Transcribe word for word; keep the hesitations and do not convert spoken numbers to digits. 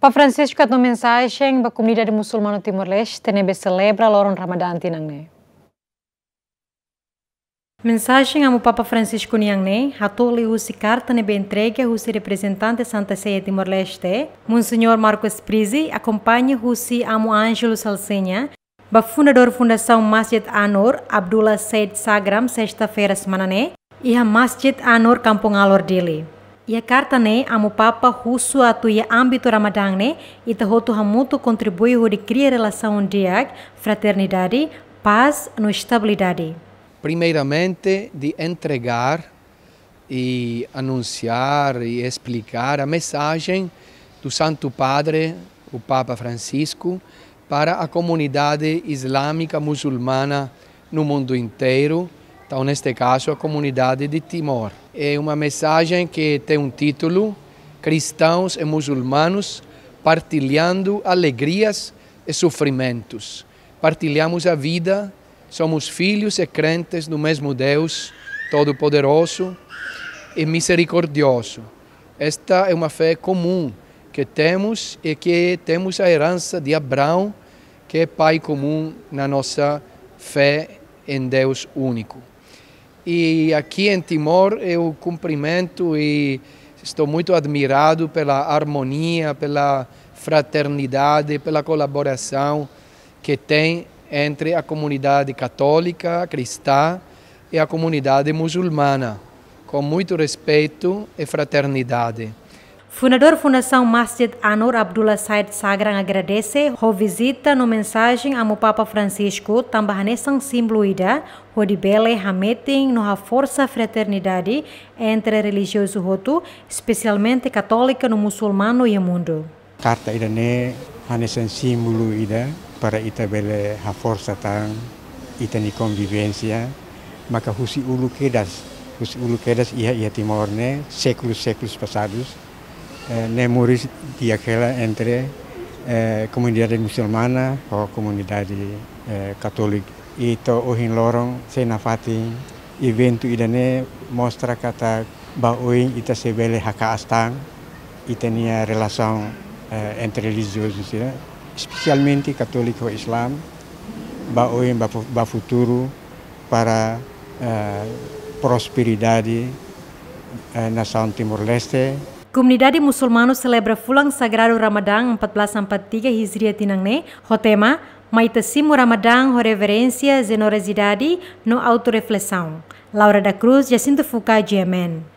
Papa Francisco hato'o mensajen ba komunidade musulmanu Timor-Leste ne'ebé selebra loron Ramadán tinan ne'e. Mensajen Amu Papa Francisco nian ne'e hato'o liuhusi karta ne'ebé entrega husi reprezentante Santa Sé iha Timor-Leste, Monseñór Marcos Prizzi, akompaña husi Amu Ângelo Salsinha, ba fundadór Fundasaun Masjid An-Nur, Abdullah Said Sagram, sesta-feira semana ne'e, iha Masjid An-Nur, Kampung Alor, Dili. Iha karta ne'e, Amu Papa husu atu iha ámbitu Ramadán ne'e, ita hotu hamutuk kontribui hodi kria relasaun di'ak, fraternidade, pás no estabilidade. Primeiramente, de entregar e anunciar e explicar a mensagem do Santo Padre, o Papa Francisco, para a comunidade islâmica muçulmana no mundo inteiro, então, neste caso, a comunidade de Timor. É uma mensagem que tem um título: Cristãos e Muçulmanos Partilhando Alegrias e Sofrimentos. Partilhamos a vida, somos filhos e crentes do mesmo Deus Todo-Poderoso e Misericordioso. Esta é uma fé comum que temos e que temos a herança de Abraão, que é pai comum na nossa fé em Deus único. E aqui em Timor eu cumprimento e estou muito admirado pela harmonia, pela fraternidade, pela colaboração que tem entre a comunidade católica, cristã e a comunidade muçulmana, com muito respeito e fraternidade. Fundadór Fundasaun Masjid An-Nur, Abdullah Said Sagram, agradese ho vizita no mensajen Amu Papa Francisco, tanba hanesan símbolu ida hodi bele hametin no haforsa fraternidade entre relijiozu hotu, espesialmente katólika no musulmanu iha mundu. Karta ida-ne'e hanesan símbolu ida para ita bele haforsa tan ita-nia konvivénsia, maka husi uluk kedas, husi uluk kedas iha, iha Timor ne'e, sékulus, sékulus pasadus, eh, ne'e moris di'ak hela entre, eh, komunidade musulmana ho komunidade, eh, katólika. I to'o ohin loron sei nafatin eventu ida-ne'e mostra katak ba oin ita sei bele haka'as tan ita-nia relasaun, eh, entre relijiozus, ya, espesialmente katólika ho Islam, ba oin, ba fu-, ba futuru, para, eh, prosperidade, eh, nasaun Timor-Leste. Komunidade musulmanu selebra fulan sagradu Ramadán empat belas empat tiga Hijriah tinan ne'e, ho tema Mai ita simu Ramadán ho reverénsia, jenerosidade no autorreflesaun. Laura da Cruz, Jacinto Fuca, G M N.